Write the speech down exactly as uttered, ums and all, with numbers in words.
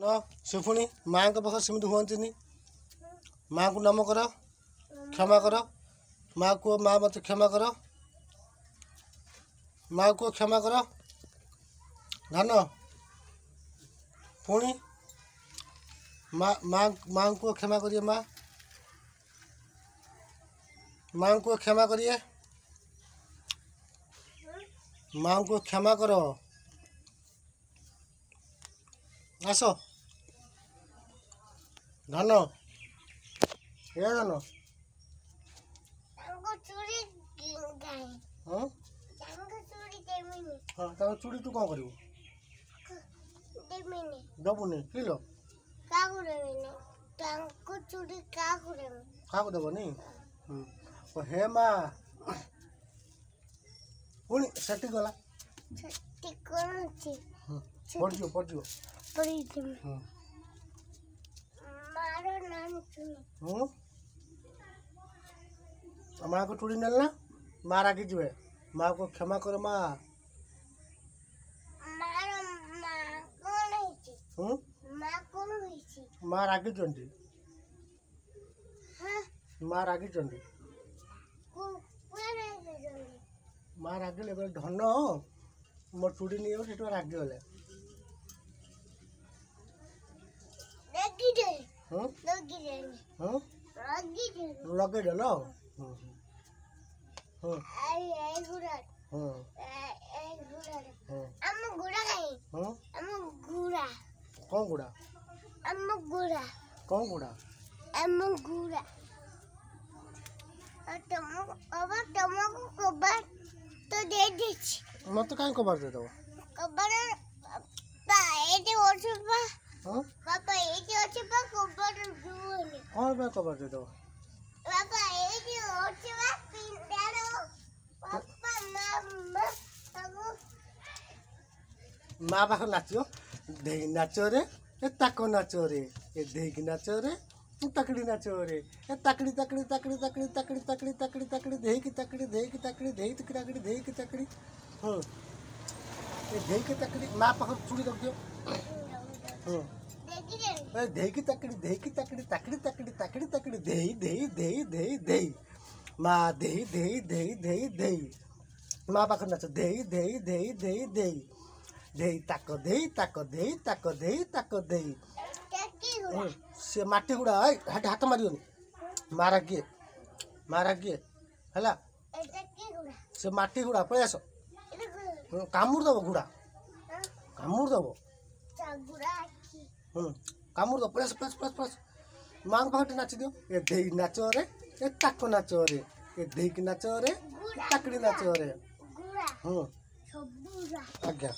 ନ ସେ ପୁଣି ମାଆଙ୍କ ପାଖରେ ସେମିତି ହୁଅନ୍ତିନି। ମାଆଙ୍କୁ ନମ କର, କ୍ଷମା କର। ମା କୁହ, ମା ମୋତେ କ୍ଷମା କର। ମା କୁହ କ୍ଷମା କର। ଧାନ ପୁଣି ମା ମା ମାଆଙ୍କୁ କୁହ କ୍ଷମା କରିବେ। ମା ମାଆଙ୍କୁ କୁହ କ୍ଷମା କରିବେ। ମାଆଙ୍କୁ କ୍ଷମା କର। ଆସ ଧନ, ଏ ଧନ। ତାଙ୍କ ଚୁଡ଼ି କାହିଁ? ହଁ। ତାଙ୍କ ଚୁଡ଼ି ଦେମିନି। ହଁ, ତାଙ୍କ ଚୁଡ଼ି ତୁ କ'ଣ କରିବୁ? ଦେମିନି। ଦବୁନି କିଲୋ? କାହାକୁ ଦେମିନି ତାଙ୍କ ଚୁଡ଼ି, କାହାକୁ ଦେମି? କାହାକୁ ଦେବନି। ହୁଁ, ହେ ମା, ପୁଣି ସେଠି ଗଲା। ସେଠି କ'ଣ ଅଛି? ପଡ଼ିଯିବ, ପଡ଼ିଯିବ। ପଡ଼ିଯିବ। ହୁଁ। ମାର ନାମ ଚୁନି। ହୁଁ, ମାଆକୁ ଚୁଡ଼ି ନେଲେ ନା ମା ରାଗିଯିବେ। ମାଆକୁ କ୍ଷମା କର ମା। ମାର ମା କ'ଣ ହେଇଛି? ହୁଁ। ମା କ'ଣ ହେଇଛି? ମା ରାଗିଛନ୍ତି। ହଁ। ମା ରାଗିଛନ୍ତି। କୁକୁଡ଼ା ରାଗିଛନ୍ତି। ମା ରାଗିଲେ, କହିଲେ ଧନ ମୋ ଚୁଡ଼ି ନେଇଯାଉଛି, ସେଠୁ ରାଗିଗଲେ। ରାଗିଦେଲେ। ହୁଁ। ଲଗିଦେଲେ। ହୁଁ। ଲଗିଦେଲେ। ଲଗେଇଦେଲ। ହୁଁ ହୁଁ। ଏଇ ଏଇଗୁଡ଼ା। ହୁଁ। ଏଇଗୁଡ଼ା। ହୁଁ। ଆମ ଗୁଡ଼ା କାହିଁ? ହୁଁ। ଆମ ଗୁଡ଼ା। କ'ଣ ଗୁଡ଼ା? ଆମ ଗୁଡ଼ା। କ'ଣ ଗୁଡ଼ା? ଆମ ଗୁଡ଼ା। ଆଉ ତମକୁ ବାବା, ତମକୁ କବାଟ ତ ଦେଇଦେଇଛି। ମତେ କାହିଁ କବାଟ ଦେଇଦେବ? କବାଟ ବାପା ଏଇଠି ଅଛି ପା। ହଁ। ବାପା ଏଇଠି ଅଛି ପା, କବାଟ ଯିବନି। କ'ଣ ପାଇଁ କବାଟ ଦେଇଦେବ? ବାପା ଏଇଠି ଅଛି ବା ପିଣ୍ଡାର। ବାପା ମା ମା ତାକୁ ମା ପାଖରେ ନାଚିବ। ଦେଇ ନାଚରେ, ଏ ତାକ ନାଚରେ, ଏ ଦେଇକି ନାଚରେ, ତାକଡ଼ି ନାଚରେ, ଏ ତାକଡ଼ି ତାକଡ଼ି ତାକଡ଼ି ତାକଡ଼ି ତାକଡ଼ି ତାକଡ଼ି ତାକଡ଼ି ତାକଡ଼ି ଦେଇକି ତାକଡ଼ି ଦେଇକି ତାକଡ଼ି ଦେଇକି ତାକଡ଼ି ଦେଇକି ତାକଡ଼ି। ହୁଁ, ଏ ଦେଇକି ତାକଡ଼ି। ମା ପାଖରେ ଚୁଡ଼ି ରଖିଦିଅ। ହୁଁ। ଦେଖିଦେଲି। ଏ ଦେଇକି ତାକଡ଼ି ଦେଇକି ତାକଡ଼ି ତାକଡ଼ି ତାକଡ଼ି ତାକଡ଼ି ତାକଡ଼ି ଦେଇ ଦେଇ ଦେଇ ଦେଇ ଦେଇ ମା ଦେଇ ଦେଇ ଦେଇ ଦେଇ ଦେଇ। ମା ପାଖରେ ନାଚ। ଦେଇ ଦେଇ ଦେଇ ଦେଇ ଦେଇ ଦେଇ ତାକ ଦେଇ ତାକ ଦେଇ ତାକ ଦେଇ ତାକ ଦେଇ। ଚାକି ଗୁଡ଼ା। ହୁଁ, ସେ ମାଟି ଗୁଡ଼ା। ଏଇ ହାତ ହାତ ମାରିବନି, ମା ରାଗିଏ, ମା ରାଗିଏ ହେଲା। ଏଟା କି ଗୁଡ଼ା? ସେ ମାଟି ଗୁଡ଼ା, ପଳେଇ ଆସ। ଏଟା ଗୁଡ଼ା। ହୁଁ, କାମୁଡ଼ି ଦବ ଗୁଡ଼ା। କାମୁଡ଼ି ଦବ। ଗୁଡ଼ା ଅଛି। ହୁଁ, କାମୁଡ଼ି ଦବ। ପଳେଇ ଆସ, ପଳେଇ ଆସ, ପଳେଇ ଆସ, ପଳେଇ ଆସ। ମାଙ୍କ ପାଖରେ ଟିକେ ନାଚି ଦିଅ। ଏ ଦେଇ ନାଚରେ, ଏ ତାକ ନାଚରେ, ଏ ଦେଇକି ନାଚରେ, ଗୁଡ଼ା। ତାକଡ଼ି ନାଚରେ। ଗୁଡ଼ା। ହୁଁ। ସବୁ ଗୁଡ଼ା। ଆଜ୍ଞା।